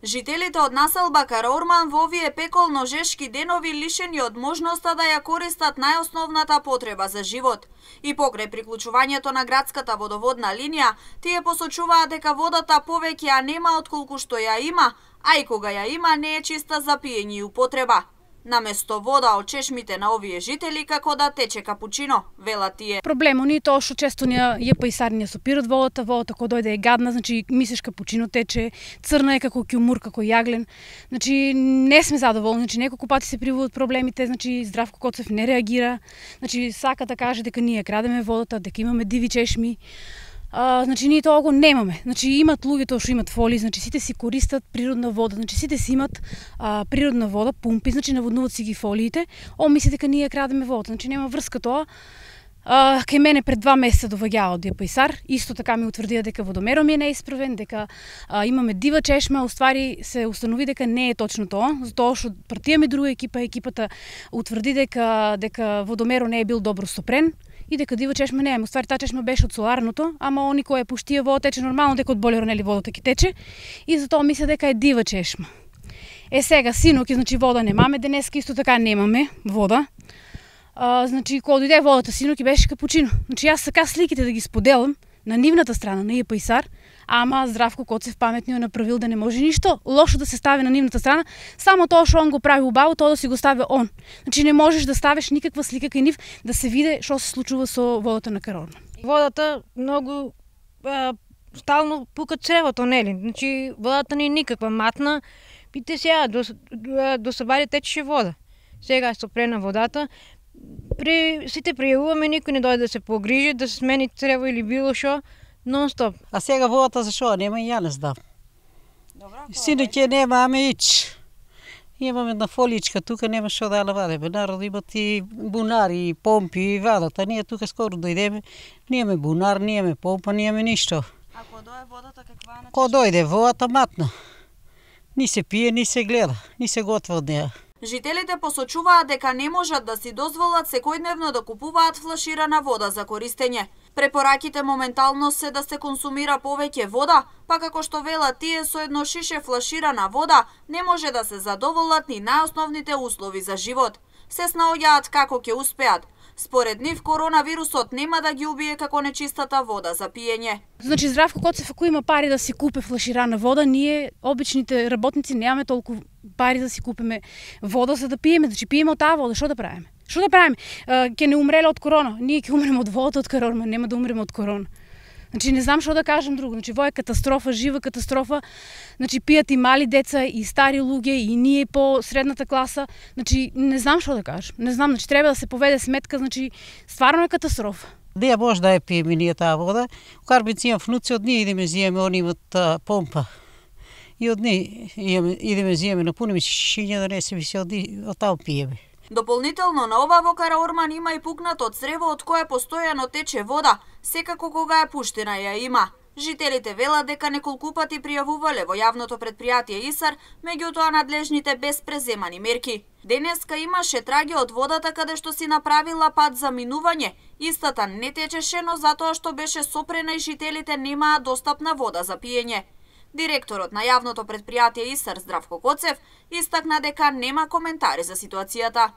Жителите од населба Караорман во овие пеколно-жешки денови лишени од можноста да ја користат најосновната потреба за живот. И покрај приклучувањето на градската водоводна линија, тие посочуваат дека водата повеќе ја нема отколку што ја има, а и кога ја има не е чиста за пиење и употреба. Наместо вода од чешмите на овие жители како да тече капучино, велат тие. Проблемот ни е тоа што често ја пајсари не сопират водата кога дојде е гадна, значи мислиш капучино тече, црна е како кјумур, како јаглен. Значи не сме задоволни, значи неколку пати се приводат проблемите, значи Здравко Коцев не реагира, значи сака да каже дека ние крадеме водата, дека имаме диви чешми. Значи ние тоа го немаме. Значи имат луѓето што имат фоли, значи сите си користат природна вода, значи сите си имат природна вода, пумпи, значи наводнуваат си ги фолиите. Мисли дека ние крадеме водата, значи нема врска тоа. Кај мене пред 2 месеца доваѓаа од Пајсар, исто така ми утврдија дека водомерот ми е неисправен, дека имаме дива чешма, уствари се установи дека не е точно тоа, затоа што партијаме друга екипата утврди дека водомерот не е бил добро стопрен и дека дива чешма не е. Уствари таа чешма беше од соларното, ама они кој ја пуштија вода тече нормално, дека од болеро нели водата ќе тече и затоа мисля дека е дива чешма. Сега синоќ, значи вода немаме, денеска исто така немаме вода. Значи кога дојде водата синоќ беше капучино. Значи јас сака сликите да ги споделам на нивната страна, на Пајсар, ама Здравко Коцев паметниот направил да не може ништо лошо да се стави на нивната страна, само тоа што он го прави убаво, тоа да си го стави он. Значи не можеш да ставиш никаква слика кај нив да се види што се случува со водата на Караорман. Водата многу стално пука цревото, нели? Значи водата не е никаква матна. Пите сега до сабари течеше вода. Сега е стопрена водата. Сите пријавуваме, никој не дојде да се погрижи, да се смени црево или било што, нон-стоп. А сега водата зашо нема и ја не знам. Синоќе немаме ич. Имаме една фоличка, тука нема што да ја вадиме. Народ имат и бунари, и помпи, и вадат, а ние тука скоро дојдеме, немаме бунар, немаме помпа, немаме ништо. А кога дојде водата каква е? Кога дојде водата матна. Ни се пие, ни се гледа, ни се готва од неа. Жителите посочуваат дека не можат да си дозволат секојдневно да купуваат флаширана вода за користење. Препораките моментално се да се консумира повеќе вода, па како што велат тие со едно шише флаширана вода не може да се задоволат ни најосновните услови за живот. Се снаоѓаат како ќе успеат. Според нив, коронавирусот нема да ги убие како нечистата вода за пиење. Значи Здравко Коцев ако има пари да си купи флаширана вода, ние обичните работници немаме толку пари да си купиме вода за да пиеме. Значи пиеме од таа вода, што да правиме? Што да правиме? Ќе не умреле од корона. Ние ќе умреме од водата од Караорман, нема да умреме од корона. Значи не знам што да кажам друго. Значи во е катастрофа, жива катастрофа. Значи пијат и мали деца, и стари луѓе, и ние по средната класа. Значи не знам што да кажам. Не знам, значи треба да се поведе сметка, значи стварно е катастрофа. Де може да ја пиеме ние таа вода? Карбици имам внуци, од ние идеме зиеме, они имат помпа. И од ние идеме зиеме, напуниме шишиња да не се виси од таму пиеме. Дополнително на ова во Караорман има и пукнато црево од кое постојано тече вода, секако кога е пуштена ја има. Жителите велат дека неколку пати пријавувале во јавното предпријатие ИСАР, меѓутоа надлежните без преземани мерки. Денеска имаше траги од водата каде што си направила пат за минување. Истата не течеше, но затоа што беше сопрена и жителите немаа достапна вода за пиење. Директорот на јавното предпријатие ИСАР Здравко Коцев истакна дека нема коментари за ситуацијата.